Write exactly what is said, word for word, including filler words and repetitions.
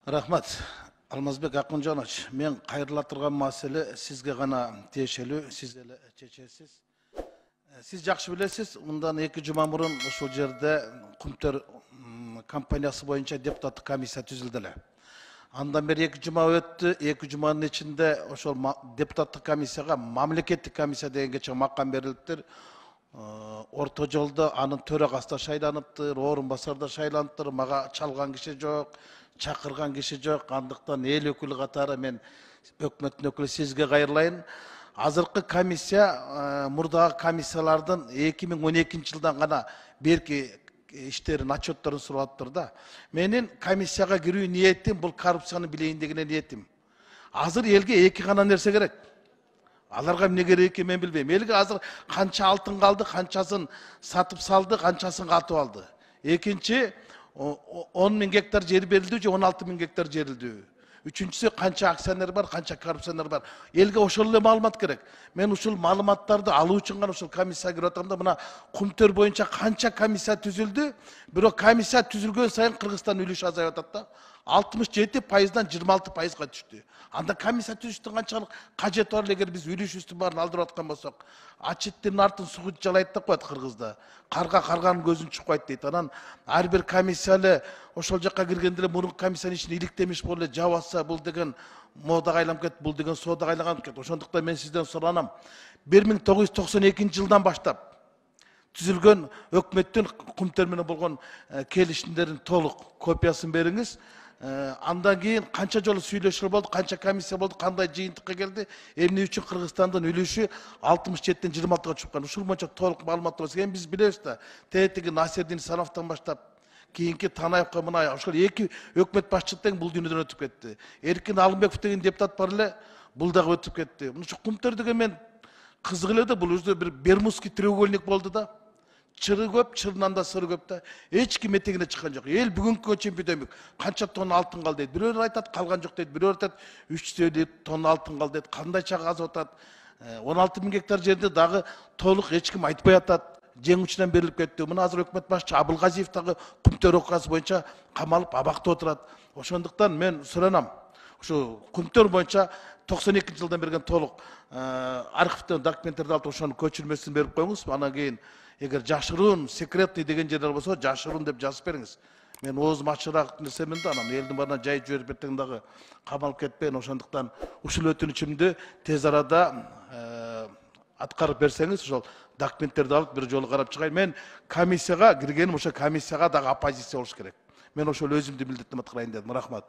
Рахмат. Алмазбек Акунжанович, мен кайрыла турган маселе сизге гана тиешелүү, сиз эле чечесиз. Сиз жакшы билесиз, мындан эки жума мурун ушул жерде Кумтөр компаниясы боюнча депутаттык комиссия түзүлдү эле. Андан бери эки жума өттү, эки жуманын ичинде ошол депутаттык комиссияга мамлекеттик комиссия дегенге чейин макам берилиптир. Орто жолдо анын төрагасы да шайланыптыр, орун басар да шайланыптыр, мага чалган киши жок, чакырган киши жок. Андыктан эл өкүлү катары мен өкмөттүн өкүлү сизге кайрылайын. Азыркы комиссия мурдагы комиссиялардын эки миң он экинчи жылдан гана берки иштерин, отчетторун сураптыр да. Менин комиссияга кирүү ниетим бул коррупцияны билейин деген ниетим. Азыр элге эки гана нерсе керек. Аларга эмне керек экенин мен билбейм. Элге азыр канча алтын калды, канчасын сатып салды, канчасын катып алды. Экинчи, он миң гектар жер берилди же он алты миң гектар жерилди. Үчүнчүсү, канча акционер бар, канча коррупционер бар. Элге ошол эле маалымат керек. Мен ушул маалыматтарды алуу үчүн гана ушул комиссияга кирип атам да, мына Кумтөр боюнча канча комиссия түзүлдү. Бирок комиссия түзүлгөн сайын Кыргызстан үлүшү азайып атат да. алтымыш жети пайыздан жыйырма алты пайызга түштү. Анда комиссия түзүштүн канчалык кажети бар эгер биз үлүшүбүздүн баарын алдырып аткан болсок. Ачыттын артын сугу жалайт деп коет кыргызда. Карга карганын көзүн чукпайт дейт. Анан ар бир комиссия эле ошол жакка киргенде эле мурунку комиссиянын ичине иликтемиш болуп эле жабаса, бул деген модага айланып кетти, бул деген соодага айланып кетти. Ошондуктан мен сизден суранам. бир миң тогуз жүз токсон экинчи жылдан баштап түзүлгөн өкмөттүн Кумтөр менен болгон келишимдердин толук копиясын бериңиз. Андан кийин канча жолу сүйлөшүү болду, канча комиссия болду, кандай жыйынтыкка келди, эмне үчүн Кыргызстандын үлүшү алтымыш жетиден жыйырма алтыга чыккан. Ушул боюнча толук маалымат болсо, эми биз билебиз да, тетиги Насирдин Сановтон баштап кийинки Танаевка мына ошол эки өкмөт башчысы тең бул дүйнөдөн өтүп кетти. Эркин Алымбеков деген депутат бар эле, бул дагы өтүп кетти. Мынча Кумтөр деген мен кызык эле да, бул өзү бир Бермудский треугольник болду да. Чыры көп, чырынан да сыры көп да. Эч ким этегине чыккан жок. Эл бүгүнкү чейин бүдөмүк. Канча тонна алтын калды дейт. Бирөөлөр айтат, калган жок дейт. Бирөөлөр айтат, үч жүз тонна алтын калды дейт. Кандайча казып атат. он алты миң гектар жерди дагы толук эч ким айтпай атат. Жеңүүчүнөн берилип кетти. Мына азыр өкмөт башчы Абылгазиев дагы Кумтөр окуясы боюнча камалып абакта отурат. Ошондуктан мен суранам. Ушу Кумтөр боюнча токсон экинчи жылдан берген толук архивден документтерди алып ошонун көчүрмөсүн берип коюңуз. Анан кийин эгер жашыруун, секретный деген жерлер болсо, жашыруун деп жазып бериңиз. Мен оозум ачыраак нерсемен да, анан элдин баарына жайып жиберип эртең дагы камалып кетпейин. Ошондуктан ушул өтүнүчүмдү тез арада аткарып берсеңиз, ошол документтерди алып бир жолу карап чыгайын. Мен комиссияга киргеним ошо комиссияга дагы оппозиция болуш керек. Мен ошол өзүмдү милдеттенip аткарайын дедим. Рахмат.